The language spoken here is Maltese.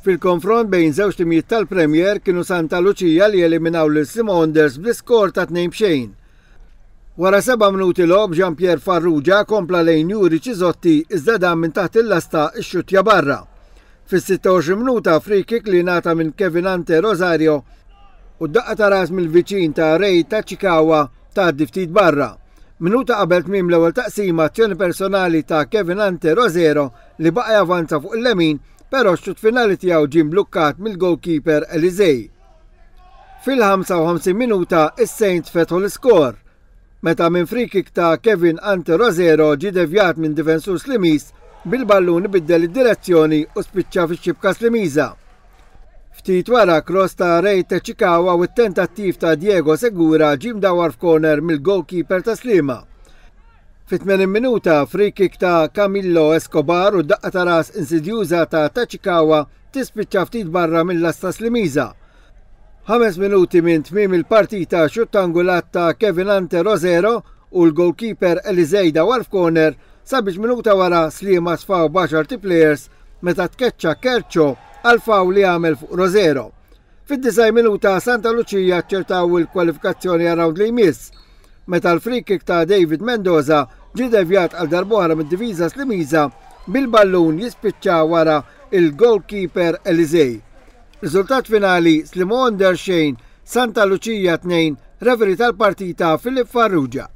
Fil-konfront bejn żewġ timijiet tal-Premier kienu Santa Lucia li eliminaw lil Sliema Wanderers bl-iskor ta' 2-0. Wara 7 minuti logħob Jean Pierre Farrugia kompla lejn Juri Cisotti iżda dan minn taħt il-lasta xxuttja barra. Fis-26 minuta free kick li ngħata minn Kevin Ante Rosario u d-daqqa ta' ras mill-viċin ta' Ray Tachikawa tgħaddi ftit barra. Minuta qabel tmiem l-ewwel taqsima azzjoni personali ta' Kevin Ante Rosero li baqa' javanza fuq il-lemin però x-xutt finali tiegħu ġie mblukkat mill-goalkeeper Elisei. Fil-55 minuta is-Saints fetħu l-iskor meta minn free kick ta' Kevin Ante Rosero ġie devjat minn difensur Slimiż bil-ballun ibiddel id-direzzjoni u spiċċa fix-xibka Slimiża. Ftit wara cross ta' Ray Tachikawa u t-tentattiv ta' Diego Segura ġie mdawwar f'corner mill-goalkeeper ta' Sliema. Fit-80 minuta free kick ta' Camillo Escobar u daqqa ta' ras insidjuża ta' Tachikawa tispiċċa ftit barra mill-lasta Slimiża. 5 minuti minn tmiem il-partita xutt angulat ta' Kevin Ante Rosero u l-goalkeeper Elisei dawar f'corner sabiex minuta wara Sliema sfaw b'għaxar players meta tkeċċa Kerċo għal fawl li għamel fuq Rosero. Fid-90 minuta Santa Lucia ċertaw il-kwalifikazzjoni għal round li jmiss. Meta l-free kick ta' David Mendoza ġie devjat għal darb'oħra mid-difiża Slimiża bil-ballun jispiċċa wara il-goalkeeper Elisei. Riżultat finali Sliema Wanderers xejn, Santa Lucia 2, referee tal-partita Filip Farrugia.